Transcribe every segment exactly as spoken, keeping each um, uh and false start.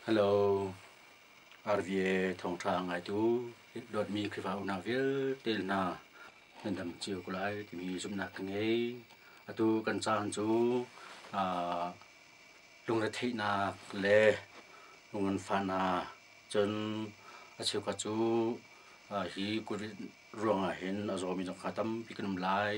Hello, R V A thawngṭha ngaitu dawtmi Khrihfa unau vialte hna nan dam cio ko lai timi zumhnak ka ngei. Atu kan caan cu uh, lungretheihnak le lunganfahnak cun a cheukhat cu uh, hi COVID ruangah hin a zawmi zong kha tampi kan um lai.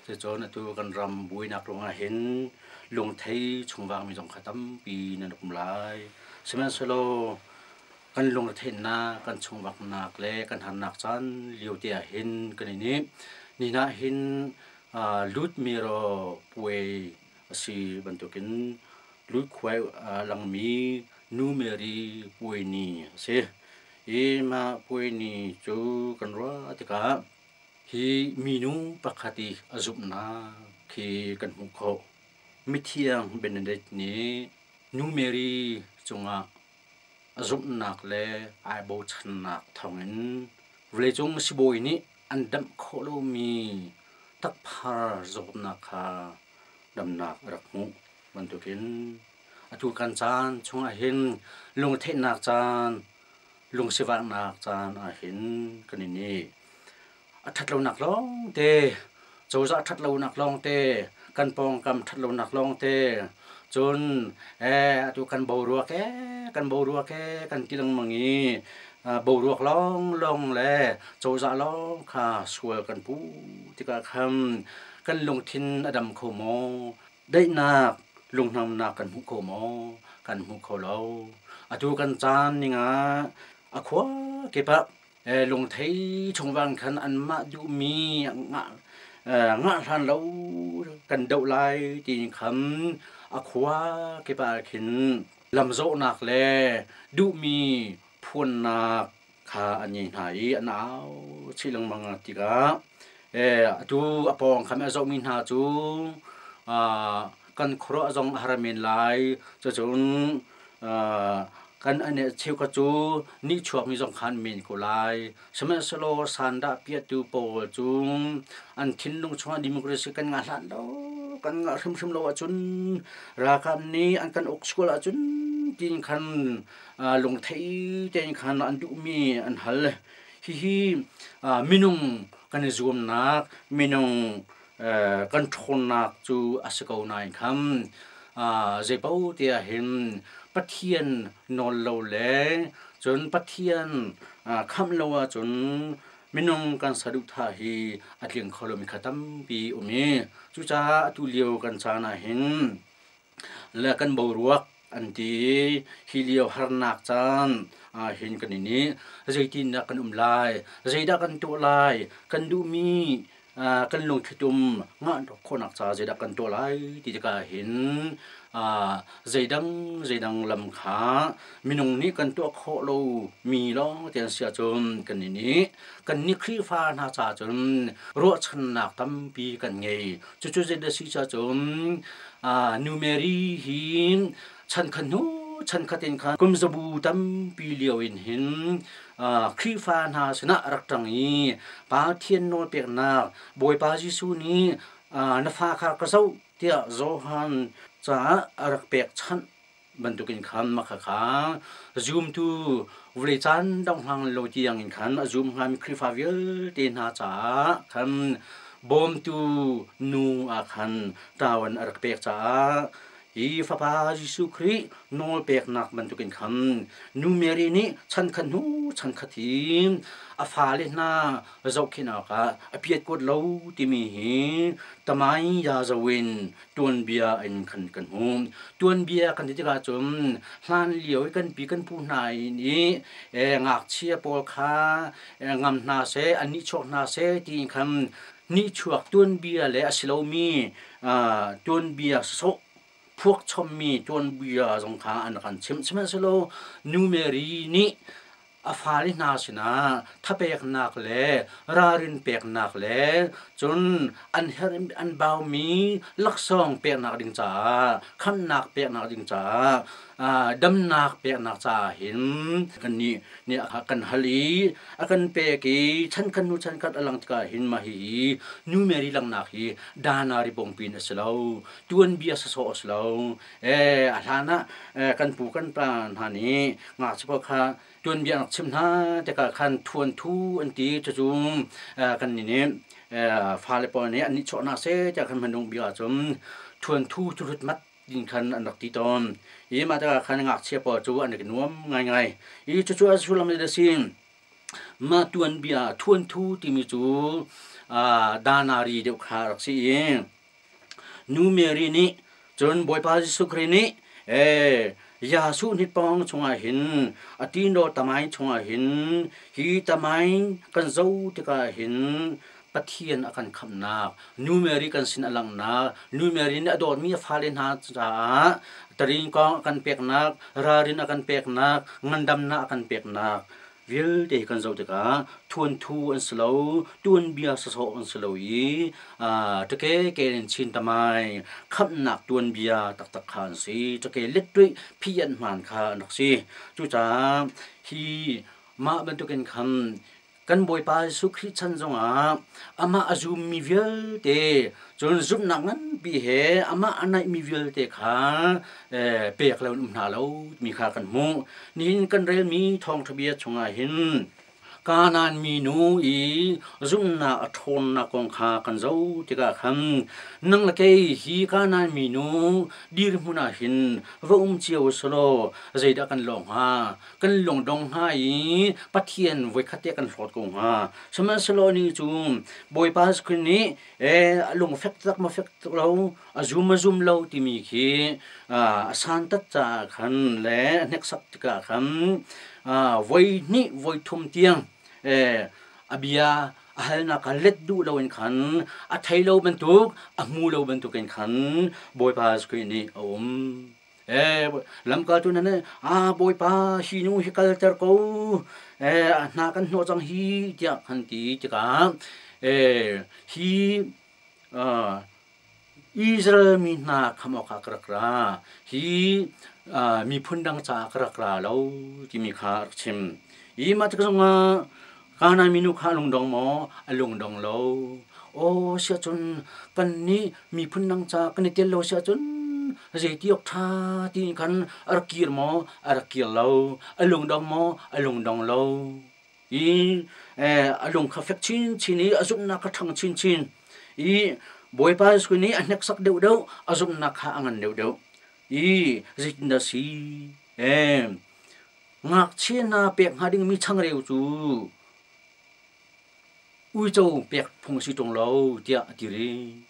Cucun atu kan ram buainak ruangah hin lungthei chungvangmi zong kha tampi nan um lai. Sihmanhsehlaw kan lungretheihnak, kan chungvaknak le kan harnak caan lio te ah hin kan i nih nihin ah hin uh, lut miro puai a si bantukin lut khuai uh, langmi Nu Mary puai ni a si. I mah puai ni cu kan ruah tikah hi minu pakhat i a zumhnak khi kan hmuh khawh. Mithiang Benedict nih Nu Mary cungah a zumhnak le ai bochannak thawngin vawleicung sibawi nih an damh khawh lomi takphar zawtnak kha damnak a rak hmuh bantukin atu kan caan chungah hin lungtheihnak caan, lungsivaknak caan ah hin kan i nih a ṭhatlonak lawngte, cozah ṭhatlonak lawngte, kan pawngkam ṭhatlonak lawngte, cun eh atu kan boruak eh kan boruak eh kan ti lengmang i boruak lawnglawng le cozah lawng kha sual kan pu tikah khan kan lungthin a dam kho maw? Daihnak lunghnamnak kan hmu kho maw? Kan hmu kho lo. Atu kan caan ning ah a khua kip ah eh, lungthei chungvang khan anmah duhmi ngah ngah hlan lo kan doh lai tiin khan a khua kip ah khin lamzawhnak le duhmi phuannak kha an ngei hna i an au chih lengmang tikah eh, atu a pawng khan a zohmi hna cu uh, kan khuaruah zong a har men lai. Cucun uh, kan ane cheukhat cu nihchuakmi zong khan men ko lai. Sihmanhsehlaw sandah piahtu pawl cu an thinlung chungah democracy kan ngah hlan lo, kan ngah hrimhrim lo ahcun ralkap nih an kan uk sual ahcun tiin khan uh, lungthei tein khan an duhmi an hal. Hihi uh, minung kan i zuamnak, minung uh, kan ṭhawnnak cu a si ko nain khan uh, zeipaoh te ah hin Pathian nawl lo le cun Pathian uh, khamh lo ahcun minung kan saduhthah hi a tling kho lomi kha tampi um i cucaah atu lio kan caan ah hin le kan boruak an ti hi lio harnak caan ah hin kan i nih zeitindah kan um lai, zeidah kan tuah lai, kan duhmi uh, kan lungthitum ngah khawhnak ca zeidah kan tuah lai ti tikah hin uh, zeidang zeidang lam kha minung nih kan tuah khawh lo mi lawng te an si ahcun kan i nih kan nih Khrihfa hna ca cun ruahchannak tampi kan ngei. Cucu zeidah si ca cun uh, Nu Mary hi chan khat hnu chan khat in khan kum zabu tampi lio in hin uh, Khrihfa hna sinah rak ṭang i Pathian nawl peknak Bawipa Jesuh nih uh, na fa kha ka zoh tiah Johan caah a rak pekchanh bantukin khan makha kha zumtu vawlei caan dong hlang lo tiang in khan a zum hngami Khrihfa vialte hna caah khan bawmtu nu ah khan ṭawan a rak pek caah hi Fapa Jesuh Khrih nawl peknak bantukin khan Nu Mary nih chan khat hnu chan khat hi a fale hna zohkhenh awkah a piat kuat lo timi hi tamai ya zoin tuanbia in khan kan hmu. Tuanbia kan ti tikah cun hlan lio i kan pi kan pu hna i eh, ngakchia pawl kha eh, ngam hna seh, an nihchuak hna seh tiin khan nihchuak tuanbia le a si lomi uh, tuanbia sawsawh phuak chommi tuanbia zong kha an kan chimh. Sihmanhsehlaw Nu Mary nih a fale hna sinah thapeknak le ralrin peknak le cun an herh an baumi laksawng peknak ding caah, khamhnak peknak ding caah Damnak peknak ca hin kan nih nih kan hal i a kan pek i chan khat hnu chan khat a lang tikah hin mah hihi Nu Mary langhnak hi dana ri bongpin a si lo, tuanbia sawsawh a si lo. Eh a hlan ah kan pu kan pa hna nih ngakchia pawl kha tuanbia an rak chim hna tikah khan thuan thu an ti. Cucu kan nih nih fale pawl nih an nihchuah hna seh tiah khan hmanung bik ahcun thuan thu cu hlut mat din khan an rak ti tawn. I mah tikah khan ngakchia pawl cu an i nuam ngaingai. I cucu a sullam a si. Mah tuanbia thuan thu timi cu danari deuh kha rak si i Nu Mary nih cun Bawipa Jesuh Khrih nih eh Jesuh hnitpawng chungah hin a tino tamai chungah hin hi tamai kan zo tikah hin Pathian a kan khamhnak, Nu Mary kan sin a langhnak, Nu Mary nih a dawtmi a fale hna caah tarin kong a kan peknak, ralrin a kan peknak, ngandamnak a kan peknak vialte kan zoh tikah thuanthu an si lo, tuanbia sawsawh an si lo i ṭake ke in chin tamai khamhnak tuanbia taktak kha an si. Ṭake lettuih phian hmaan kha an rak si. Cucaah hi mah bantukin khan kan Bawipa Jesuh Khrih chan zongah amah a zummi vialte cun zumhnak nganpi he amah a naihmi vialte kha pek lo in um hna lo timi kha kan hmuh. Nihin kan relmi thawngṭha bia chungah hin Kanaan minu i zumhnak a ṭhawnnak kong kha kan zoh tikah khan nang le kei hi Kanaan minu dirhmun ah hin va um cio selaw zeidah kan lawh hnga? Kan lungdong hnga i Pathian voikhat te kan hlawt ko hnga. Sihmanhsehlaw ni cu Bawipa Jesuh Khrih nih eh a lung fek tak ma fek tak lo, a zum a zum lo timi khi a santat caah khan le a hneksak tikah khan voi hnih voi thum tiang a bia a halnak kha let duh loin khan a thei lo bantuk a hmu lo bantukin khan Bawipa Jesuh Khrih nih a um. Eh lamkaltu nan ah Bawipa hi nu hi kalter ko, eh hna kan hnawh cang hi tiah kan ti tikah eh hi Israel mi hna kham awkah ka rak ra, hi miphun dang caah ka rak ra lo timi kha a rak chim. I mah tik zongah Kanaan minu kha a lungdong maw? A lungdong lo. Aw siahcun kannih miphun dang caah kan i tel lo siahcun zeiti awk ṭha tiin khan a rak kir maw? A rak kir lo. A lungdong maw? A lungdong lo. I a lung kha fek chinchin i a zumhnak kha ṭhang chinchin. I Bawipa Jesuh nih a hneksak deuhdeuh, a zumhnak kha a ngan deuhdeuh. I zeitindah si? Eh, ngakchia hna pek hnga dingmi changreu cu uico pek phung a si ṭung lo tiah a ti rih.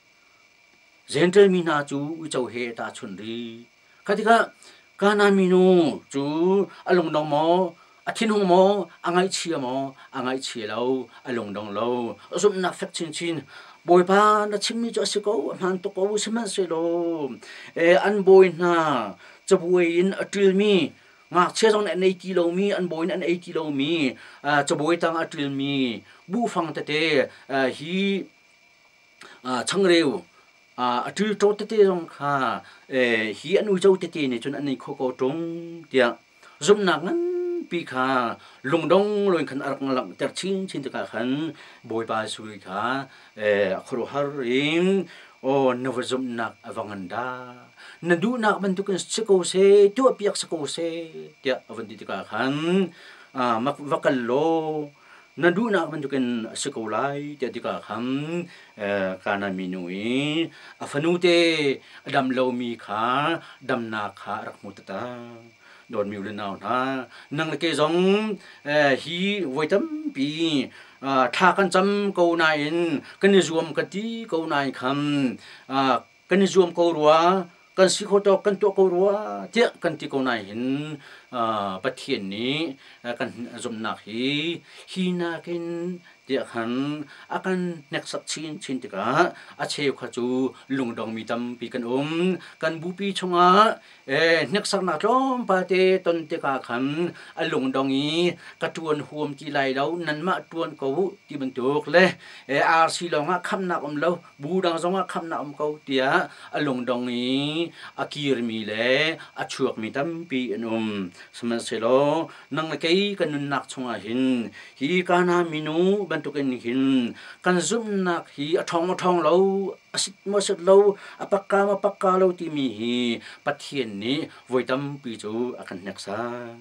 Jentail mi hna cu uico he tahchunh rih. Kha tikah Kanaan minu cu a lungdong maw, a thinhung maw, a ngaihchia maw? A ngaihchia lo, a lungdong lo. A zumhnak fek chinchin. Bawipa na chimmi cu a si ko, a hmaan tuk ko, sihmanhsehlaw eh, an bawi hna cabuai in a ṭilmi ngakchia zong nih an ei ti lomi, an bawi nih an ei ti lomi, cabuai tang a ṭilmi buhfang tete hi changreu a ṭilṭo tete zong kha hi an uico tete nih cun an ei kho ko ṭung tiah zumhnak nganpi kha lungdong loin khan a rak langhter chinchin tikah khan Bawipa Jesuh kha a khuaruahhar in aw na va zumhnak a va ngan dah, na duhnak bantukin si ko seh, tuahpiak si ko seh tiah a van ti tikah khan va kal law na duhnak bantukin a si ko lai tiah tikah khan Kanaan minu i a fanute a dam lomi kha damnak kha a rak hmu taktak. Dawtmi u le nau hna, nang le kei zong hi voi tampi thla kan cam ko nain kan i zuam kan ti ko nain khan kan i zuam ko rua, kan si kho tawk kan tuah ko rua tiah kan ti ko nain hin Pathian nih kan zumhnak hi hi nakin Tiah khan a kan hneksak chinchin tikah a cheu kha cu lungdong mi tampi kan um. Kan bupi chungah hneksaknak tlawmpal te ton tikah khan a lungdong i ka ṭuan huam ti lai lo, nanmah ṭuan ko u ti bantuk le R C lawngah khamnak um lo, bu dang zongah khamnak um ko tiah a lungdong i a kirmi le a chuakmi tampi an um. Sihmanhsehlaw nang le kei kan nunnak chungah hin hi Kana minu bantukin hin kan zumhnak hi a ṭhawng a ṭhawng lo, a sit maw sit lo, a pakka maw pakka lo timi hi Pathian nih voi tampi cu a kan hneksak.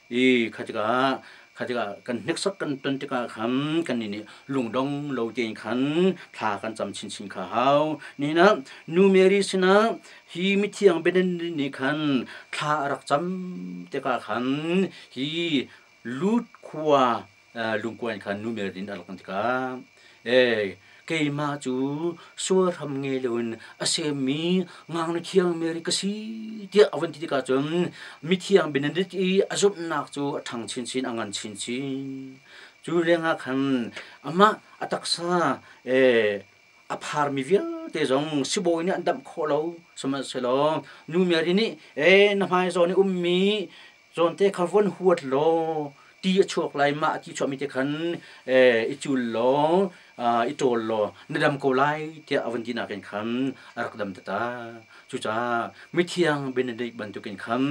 I kha tikah kha tikah kan hneksak kan ton tikah khan kannih nih lungdong lo tein khan thla kan cam chinchin kha hau. Nihin ah Nu Mary sinah hi mithiang Benedict nih khan thla a rak cam tikah khan hi Lut khua lungkuan khan Nu Mary nih a rak tikah e keimah cu sualhram ngei loin a semmi ngaknu thiang Mary ka si tiah a vun ti tikah cun mithiang Benedict i a zumhnak cu a ṭhang chinchin, a ngan chinchin. Cu lengah khan amah a taksa e a pharmi vialte zong sibawi nih an damh khawh lo. Sihmanhsehlaw Nu Mary nih e na hmai zawn i ummi zawnte kha von huat law ti a chuak lai, mah a ti chuahmi te khan i cul law i ṭawl law na dam ko lai tiah a vun ti nakin khan a rak dam tata. Cucaah mithiang Benedict bantukin khan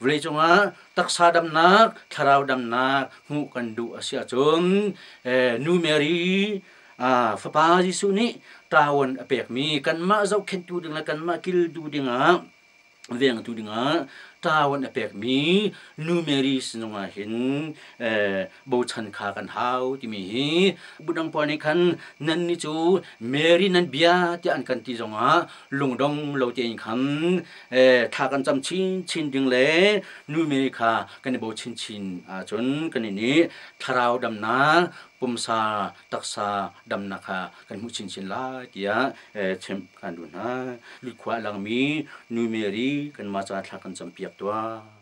vawleicung ah taksa damnak, thlarau damnak hmuh kan duh a si ahcun Nu Mary Fapa Jesuh nih ṭawan a pekmi kanmah zohkhenhtu ding le kanmah kiltu dingah vengtu dingah ṭawan a pekmi Nu Mary sinung ah hin bochan kha kan hau timi hi budang pawl nih khan nan nih cu Mary nan bia tiah an kan ti zongah lungdong lo tein khan thla kan cam chinchin ding le Nu Mary kha kan i bo chinchin ahcun kan nih thlarau damnak, pumsa taksa damnak kha kan hmuh chinchin lai tiah chimh kan duh hna. Lutkhua a langmi Nu Mary kanmah caah thla kan campiak tuah.